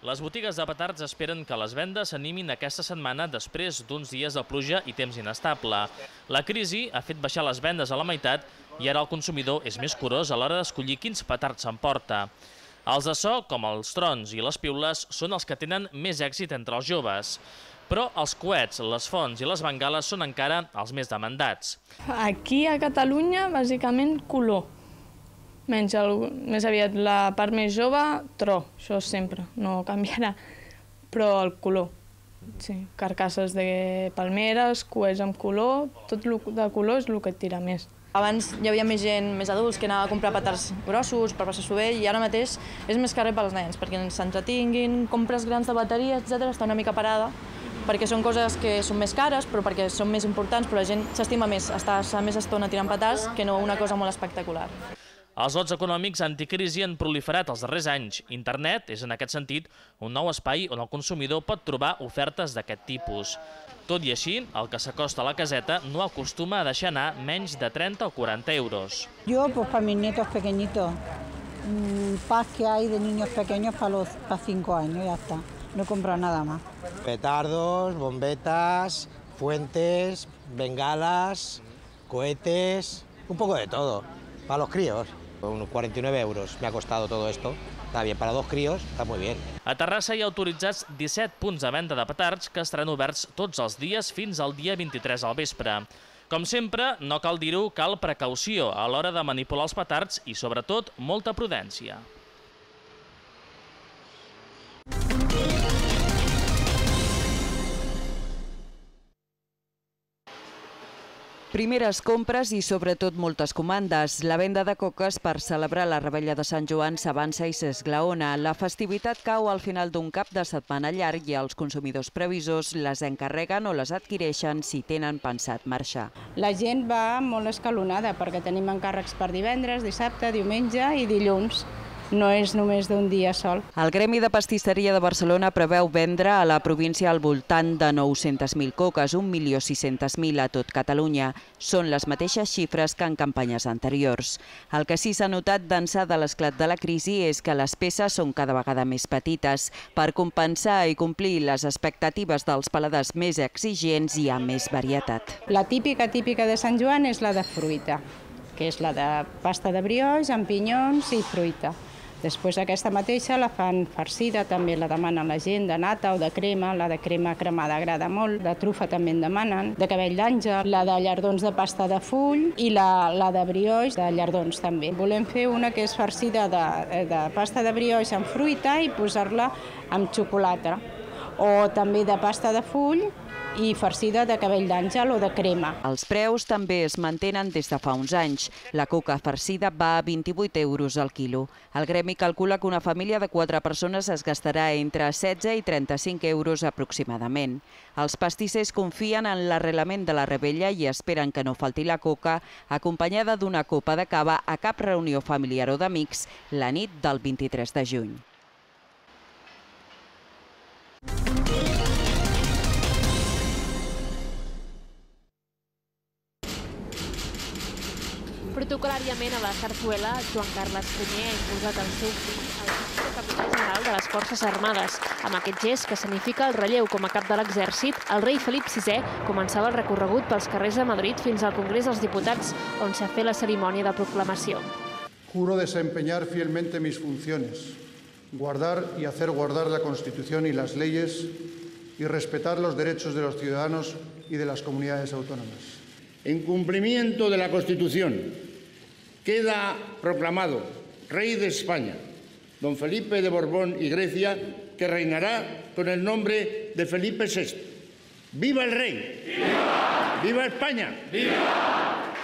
Les botigues de petards esperen que les vendes s'animin aquesta setmana després d'uns dies de pluja i temps inestable. La crisi ha fet baixar les vendes a la meitat i ara el consumidor és més curós a l'hora d'escollir quins petards s'emporta. Els de so, com els trons i les piules, són els que tenen més èxit entre els joves. Però els coets, les fonts i les bengales són encara els més demandats. Aquí a Catalunya, bàsicament, color. Més aviat la part més jove, tro, això sempre, no canviarà, però el color. Sí, carcasses de palmeres, coets amb color, tot de color és el que et tira més. Abans hi havia més gent, més adults, que anava a comprar petards grossos per passar-s'ho bé i ara mateix és més carrer pels nens, perquè s'entretinguin, compres grans de bateria, etc. Està una mica parada, perquè són coses que són més cares, però perquè són més importants, però la gent s'estima més, està més estona tirant petards que no una cosa molt espectacular. Els lots econòmics anticrisi han proliferat els darrers anys. Internet és, en aquest sentit, un nou espai on el consumidor pot trobar ofertes d'aquest tipus. Tot i així, el que s'acosta a la caseta no acostuma a deixar anar menys de 30 o 40 euros. Yo, pues para mis nietos pequeñitos, paz que hay de niños pequeños para 5 años, ya está. No he comprado nada más. Petardos, bombetas, fuentes, bengalas, cohetes, un poco de todo, para los críos. Unos 49 euros me ha costado todo esto. Está bien, para 2 críos está muy bien. A Terrassa hi ha autoritzats 17 punts de venda de petards que estaran oberts tots els dies fins al dia 23 al vespre. Com sempre, no cal dir-ho, cal precaució a l'hora de manipular els petards i, sobretot, molta prudència. Primeres compres i, sobretot, moltes comandes. La venda de coques per celebrar la Revetlla de Sant Joan s'avança i s'esglaona. La festivitat cau al final d'un cap de setmana llarg i els consumidors previsors les encarreguen o les adquireixen si tenen pensat marxar. La gent va molt escalonada perquè tenim encàrrecs per divendres, dissabte, diumenge i dilluns. No és només d'un dia sol. El Gremi de Pastisseria de Barcelona preveu vendre a la província al voltant de 900.000 coques, 1.600.000 a tot Catalunya. Són les mateixes xifres que en campanyes anteriors. El que sí s'ha notat d'ençà de l'esclat de la crisi és que les peces són cada vegada més petites. Per compensar i complir les expectatives dels paladars més exigents hi ha més varietat. La típica de Sant Joan és la de fruita, que és la de pasta de brioix amb pinyons i fruita. Després aquesta mateixa la fan farcida, també la demanen la gent, de nata o de crema. La de crema cremada agrada molt, de trufa també en demanen, de cabell d'àngel, la de llardons de pasta de full i la de brioix de llardons també. Volem fer una que és farcida de pasta de brioix amb fruita i posar-la amb xocolata, o també de pasta de full i farcida de cabell d'àngel o de crema. Els preus també es mantenen des de fa uns anys. La coca farcida va a 28 euros al quilo. El gremi calcula que una família de 4 persones es gastarà entre 16 i 35 euros aproximadament. Els pastissers confien en l'arrelament de la revetlla i esperen que no falti la coca, acompanyada d'una copa de cava a cap reunió familiar o d'amics la nit del 23 de juny. Protocolàriament a la Zarzuela, Joan Carles I ha imposat el seu fill al títol de capità general de les Forces Armades. Amb aquest gest, que significa el relleu com a cap de l'exèrcit, el rei Felip VI començava el recorregut pels carrers de Madrid fins al Congrés dels Diputats, on s'ha fet la cerimònia de proclamació. Juro desempeñar fielmente mis funciones, guardar y hacer guardar la Constitución y las leyes y respetar los derechos de los ciudadanos y de las comunidades autónomas. En cumplimiento de la Constitución, queda proclamado Rey de España, don Felipe de Borbón y Grecia, que reinará con el nombre de Felipe VI. ¡Viva el rey! ¡Viva! ¡Viva España! ¡Viva!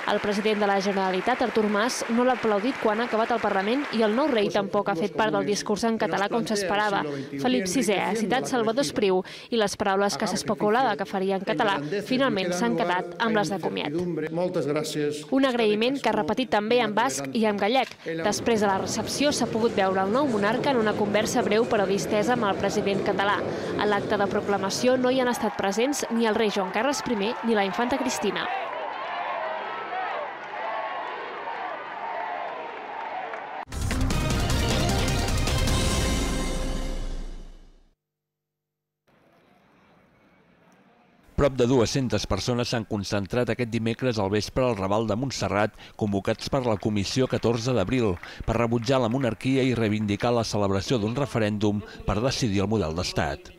El president de la Generalitat, Artur Mas, no l'ha aplaudit quan ha acabat el Parlament i el nou rei tampoc ha fet part del discurs en català com s'esperava. Felip VI ha citat Salvador Espriu i les paraules que s'especulava que faria en català finalment s'han quedat amb les de comiat. Moltes gràcies. Un agraïment que ha repetit també en basc i en gallec. Després de la recepció s'ha pogut veure el nou monarca en una conversa breu però distesa amb el president català. A l'acte de proclamació no hi han estat presents ni el rei Joan Carles I ni la infanta Cristina. Prop de 200 persones s'han concentrat aquest dimecres al vespre al Raval de Montserrat, convocats per la Comissió 14 d'abril, per rebutjar la monarquia i reivindicar la celebració d'un referèndum per decidir el model d'estat.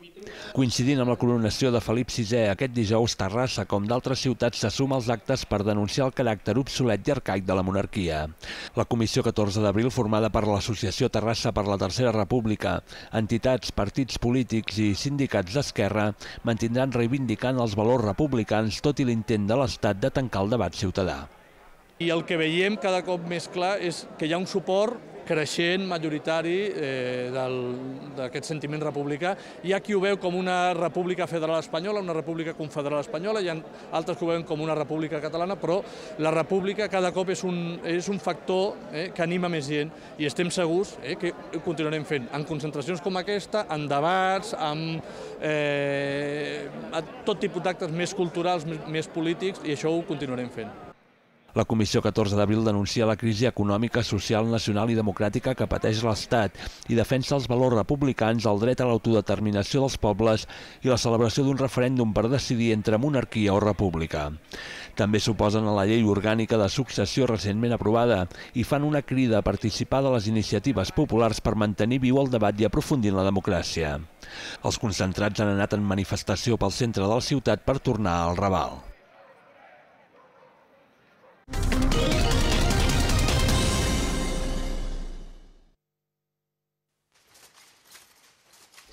Coincidint amb la coronació de Felip VI, aquest dijous Terrassa, com d'altres ciutats, se suma als actes per denunciar el caràcter obsolet i arcaic de la monarquia. La Comissió 14 d'abril, formada per l'Associació Terrassa per la Tercera República, entitats, partits polítics i sindicats d'esquerra, mantindran reivindicant els valors republicans tot i l'intent de l'Estat de tancar el debat ciutadà. I el que veiem cada cop més clar és que hi ha un suport creixent, majoritari, d'aquest sentiment republicà. Hi ha qui ho veu com una república federal espanyola, una república confederal espanyola, hi ha altres que ho veuen com una república catalana, però la república cada cop és un factor que anima més gent i estem segurs que ho continuarem fent en concentracions com aquesta, en debats, amb tot tipus d'actes més culturals, més polítics, i això ho continuarem fent. La Comissió 14 d'abril denuncia la crisi econòmica, social, nacional i democràtica que pateix l'Estat i defensa els valors republicans, el dret a l'autodeterminació dels pobles i la celebració d'un referèndum per decidir entre monarquia o república. També s'oposen a la llei orgànica de successió recentment aprovada i fan una crida a participar de les iniciatives populars per mantenir viu el debat i aprofundir en la democràcia. Els concentrats han anat en manifestació pel centre de la ciutat per tornar al Raval.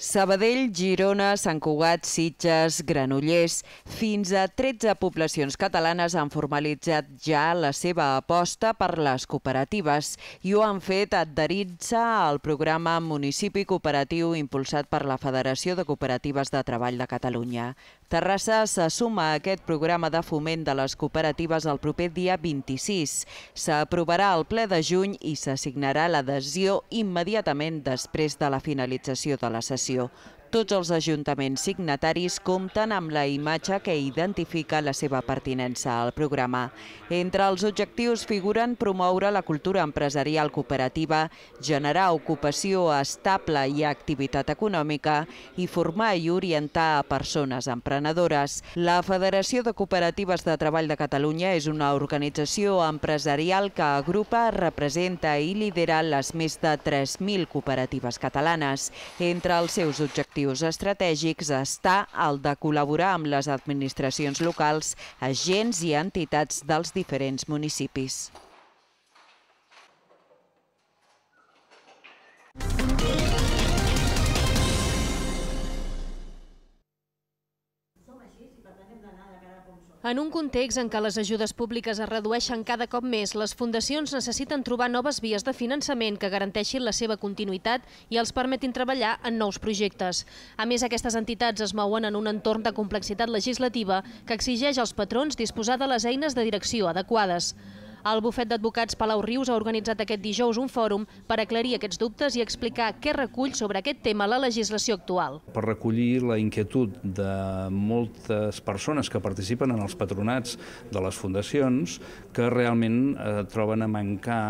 Sabadell, Girona, Sant Cugat, Sitges, Granollers, fins a 13 poblacions catalanes han formalitzat ja la seva aposta per les cooperatives i ho han fet adherint-se al programa Municipi Cooperatiu impulsat per la Federació de Cooperatives de Treball de Catalunya. Terrassa se suma a aquest programa de foment de les cooperatives el proper dia 26. S'aprovarà al ple de juny i s'assignarà l'adhesió immediatament després de la finalització de la sessió. Tots els ajuntaments signataris compten amb la imatge que identifica la seva pertinença al programa. Entre els objectius figuren promoure la cultura empresarial cooperativa, generar ocupació estable i activitat econòmica i formar i orientar a persones emprenedores. La Federació de Cooperatives de Treball de Catalunya és una organització empresarial que agrupa, representa i lidera les més de 3.000 cooperatives catalanes. Entre els seus objectius estratègics està el de col·laborar amb les administracions locals, agents i entitats dels diferents municipis. En un context en què les ajudes públiques es redueixen cada cop més, les fundacions necessiten trobar noves vies de finançament que garanteixin la seva continuïtat i els permetin treballar en nous projectes. A més, aquestes entitats es mouen en un entorn de complexitat legislativa que exigeix als patrons disposar de les eines de direcció adequades. El bufet d'advocats Palau Rius ha organitzat aquest dijous un fòrum per aclarir aquests dubtes i explicar què recull sobre aquest tema la legislació actual. Per recollir la inquietud de moltes persones que participen en els patronats de les fundacions que realment troben a mancar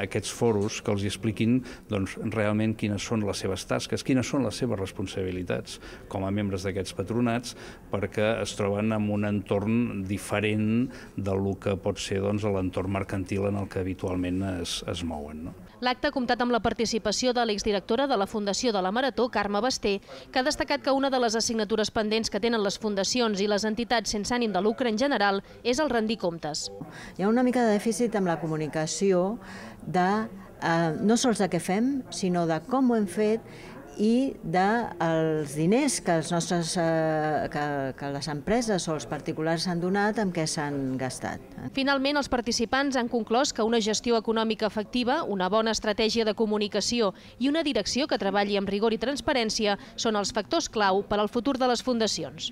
aquests foros que els expliquin realment quines són les seves tasques, quines són les seves responsabilitats com a membres d'aquests patronats, perquè es troben en un entorn diferent del que pot ser l'entorn mercantil en el que habitualment es mouen. L'acte ha comptat amb la participació de l'exdirectora de la Fundació de la Marató, Carme Basté, que ha destacat que una de les assignatures pendents que tenen les fundacions i les entitats sense ànim de lucre en general és el rendir comptes. Hi ha una mica de dèficit amb la comunicació de no sols de què fem, sinó de com ho hem fet i dels diners que les empreses o els particulars s'han donat amb què s'han gastat. Finalment, els participants han conclòs que una gestió econòmica efectiva, una bona estratègia de comunicació i una direcció que treballi amb rigor i transparència són els factors clau per al futur de les fundacions.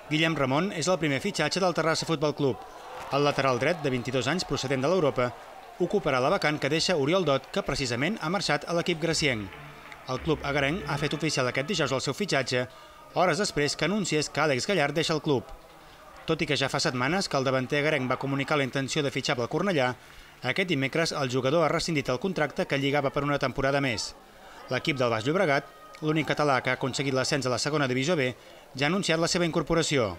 Guillem Ramon és el primer fitxatge del Terrassa Futbol Club. El lateral dret, de 22 anys, procedent de l'Europa, ocuparà la vacant que deixa Oriol Dot, que precisament ha marxat a l'equip gracienc. El club agarenc ha fet oficial aquest dijous el seu fitxatge, hores després que anunciés que Àlex Gallard deixa el club. Tot i que ja fa setmanes que el davanter agarenc va comunicar la intenció de fitxar pel Cornellà, Aquest dimecres el jugador ha rescindit el contracte que lligava per una temporada més. L'equip del Baix Llobregat, l'únic català que ha aconseguit l'ascens a la segona divisió B, ja ha anunciat la seva incorporació.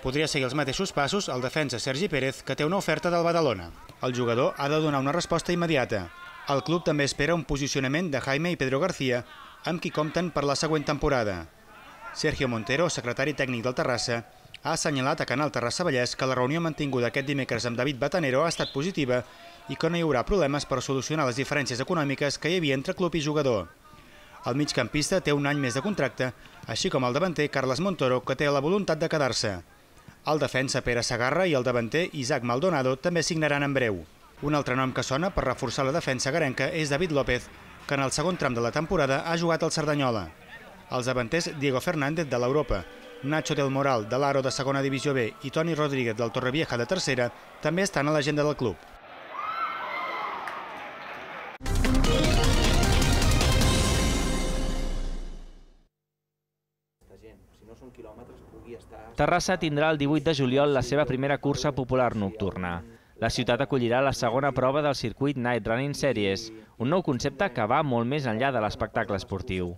Podria seguir els mateixos passos el defensa Sergi Pérez, que té una oferta del Badalona. El jugador ha de donar una resposta immediata. El club també espera un posicionament de Jaime i Pedro García, amb qui compten per la següent temporada. Sergio Montero, secretari tècnic del Terrassa, ha assenyalat a Canal Terrassa Vallès que la reunió mantinguda aquest dimecres amb David Batanero ha estat positiva i que no hi haurà problemes per solucionar les diferències econòmiques que hi havia entre club i jugador. El migcampista té un any més de contracte, així com el davanter Carles Montoro, que té la voluntat de quedar-se. El defensa Pere Segarra i el davanter Isaac Maldonado també signaran en breu. Un altre nom que sona per reforçar la defensa garenca és David López, que en el segon tram de la temporada ha jugat al Cerdanyola. Els davanters Diego Fernández de l'Europa, Nacho del Moral de l'Aro de segona divisió B i Toni Rodríguez del Torrevieja de tercera també estan a l'agenda del club. Terrassa tindrà el 18 de juliol la seva primera cursa popular nocturna. La ciutat acollirà la segona prova del circuit Night Running Series, un nou concepte que va molt més enllà de l'espectacle esportiu.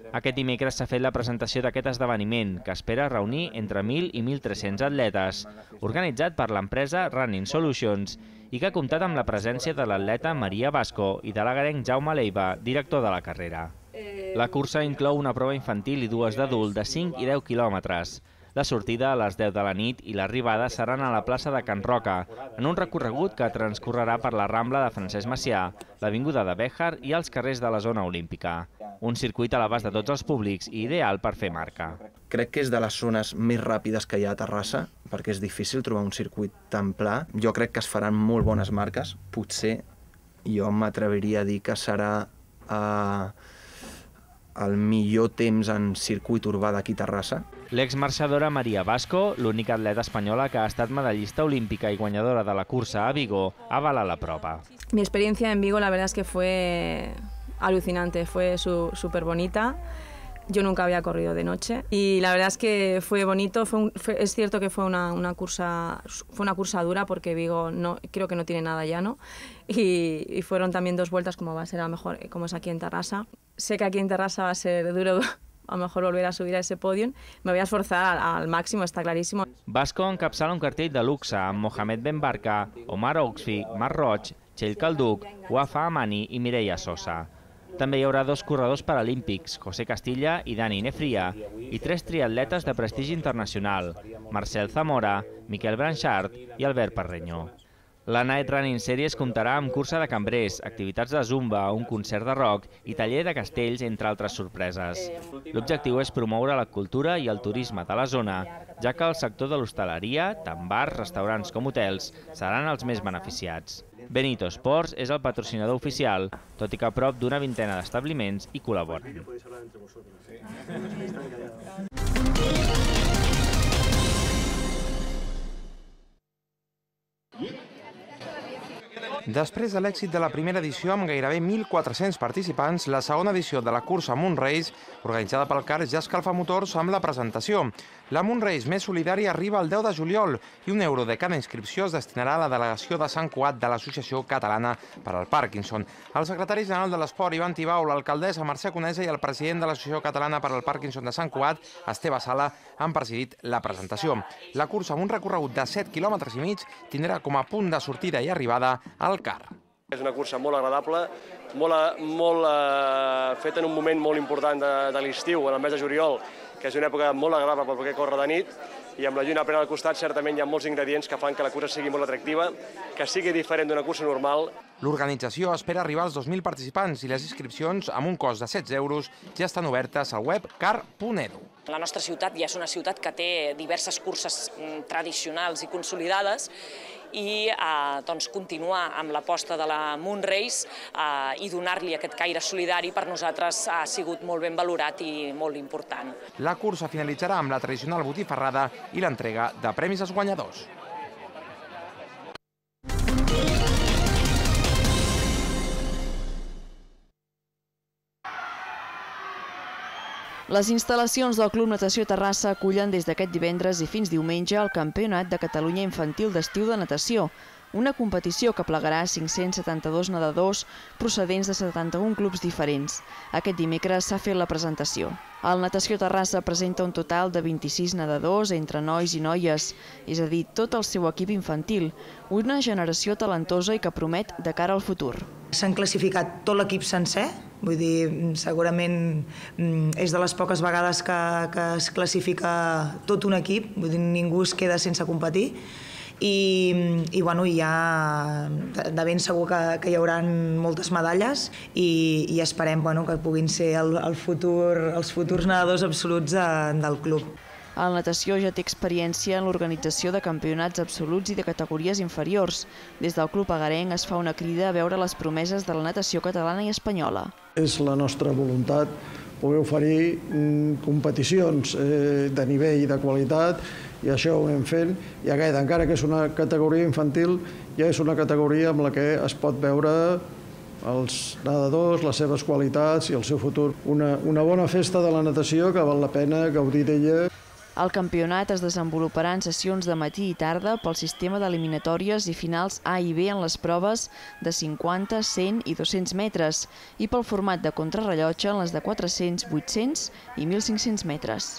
Aquest dimecres s'ha fet la presentació d'aquest esdeveniment, que espera reunir entre 1.000 i 1.300 atletes, organitzat per l'empresa Running Solutions i que ha comptat amb la presència de l'atleta Maria Vasco i de l'agarenc Jaume Leiva, director de la carrera. La cursa inclou una prova infantil i dues d'adult de 5 i 10 quilòmetres. La sortida a les 10 de la nit i l'arribada seran a la plaça de Can Roca, en un recorregut que transcorrerà per la Rambla de Francesc Macià, l'Avinguda de Béjar i els carrers de la zona olímpica. Un circuit a l'abast de tots els públics i ideal per fer marca. Crec que és de les zones més ràpides que hi ha a Terrassa, perquè és difícil trobar un circuit tan pla. Jo crec que es faran molt bones marques. Potser jo m'atreviria a dir que serà el millor temps en circuit urbà d'aquí a Terrassa. L'exmarxadora Maria Vasco, l'única atleta espanyola que ha estat medallista olímpica i guanyadora de la cursa a Vigo, avala la prova. Mi experiencia en Vigo la verdad es que fue alucinante, fue súper bonita. Yo nunca había corrido de noche y la verdad es que fue bonito. Es cierto que fue una cursa dura porque Vigo creo que no tiene nada llano y fueron también 2 vueltas como va a ser a lo mejor como es aquí en Terrassa. Sé que aquí en Terrassa va a ser duro a lo mejor volver a subir a ese podium. Me voy a esforzar al máximo, está clarísimo. Vasco encapçala un cartell de luxe amb Mohamed Ben Barka, Omar Oxfi, Marc Roig, Txell Calduc, Wafa Amani i Mireia Sosa. També hi haurà 2 corredors paralímpics, José Castilla i Dani Nefria, i 3 triatletes de prestigi internacional, Marcel Zamora, Miquel Branchart i Albert Parreño. La Night Running Series comptarà amb cursa de cambrers, activitats de zumba, un concert de rock i taller de castells, entre altres sorpreses. L'objectiu és promoure la cultura i el turisme de la zona, ja que el sector de l'hostaleria, tant bars, restaurants com hotels, seran els més beneficiats. Benito Sports és el patrocinador oficial, tot i que a prop d'una vintena d'establiments hi col·laboren. Després de l'èxit de la primera edició amb gairebé 1.400 participants, la segona edició de la cursa Moonrace, organitzada pel CAR, ja escalfa motors amb la presentació. La Moonrace més solidària arriba el 10 de juliol i €1 de cada inscripció es destinarà a la delegació de Sant Cugat de l'Associació Catalana per al Parkinson. El secretari general de l'Esport, Ivan Tibau, l'alcaldessa Mercè Conesa i el president de l'Associació Catalana per al Parkinson de Sant Cugat, Esteve Sala, han presidit la presentació. La cursa, amb un recorregut de 7,5 quilòmetres, tindrà com a punt de sortida i arribada al CAR. És una cursa molt agradable, molt feta en un moment molt important de l'estiu, en el mes de juliol, que és una època molt agradable per poder córrer de nit, i amb la lluna plena al costat certament hi ha molts ingredients que fan que la cursa sigui molt atractiva, que sigui diferent d'una cursa normal. L'organització espera arribar als 2.000 participants i les inscripcions, amb un cost de €16, ja estan obertes al web car.edu. La nostra ciutat ja és una ciutat que té diverses curses tradicionals i consolidades i continuar amb l'aposta de la Moonrace i donar-li aquest caire solidari per nosaltres ha sigut molt ben valorat i molt important. La cursa finalitzarà amb la tradicional botifarrada i l'entrega de premis als guanyadors. Les instal·lacions del Club Natació Terrassa acullen des d'aquest divendres i fins diumenge el Campionat de Catalunya Infantil d'Estiu de Natació. una competició que plegarà 572 nedadors procedents de 71 clubs diferents. Aquest dimecres s'ha fet la presentació. El Natació Terrassa presenta un total de 26 nedadors entre nois i noies, és a dir, tot el seu equip infantil, una generació talentosa i que promet de cara al futur. S'han classificat tot l'equip sencer, vull dir, segurament és de les poques vegades que es classifica tot un equip, vull dir, ningú es queda sense competir, i ja de ben segur que hi haurà moltes medalles i esperem que puguin ser els futurs nedadors absoluts del club. El Natació ja té experiència en l'organització de campionats absoluts i de categories inferiors. Des del club agarenc es fa una crida a veure les promeses de la natació catalana i espanyola. És la nostra voluntat poder oferir competicions de nivell i de qualitat, i això ho anem fent, i encara que és una categoria infantil, ja és una categoria amb la que es pot veure els nedadors, les seves qualitats i el seu futur. Una bona festa de la natació que val la pena gaudir d'ella. El campionat es desenvoluparà en sessions de matí i tarda pel sistema d'eliminatòries i finals A i B en les proves de 50, 100 i 200 metres i pel format de contrarrellotge en les de 400, 800 i 1.500 metres.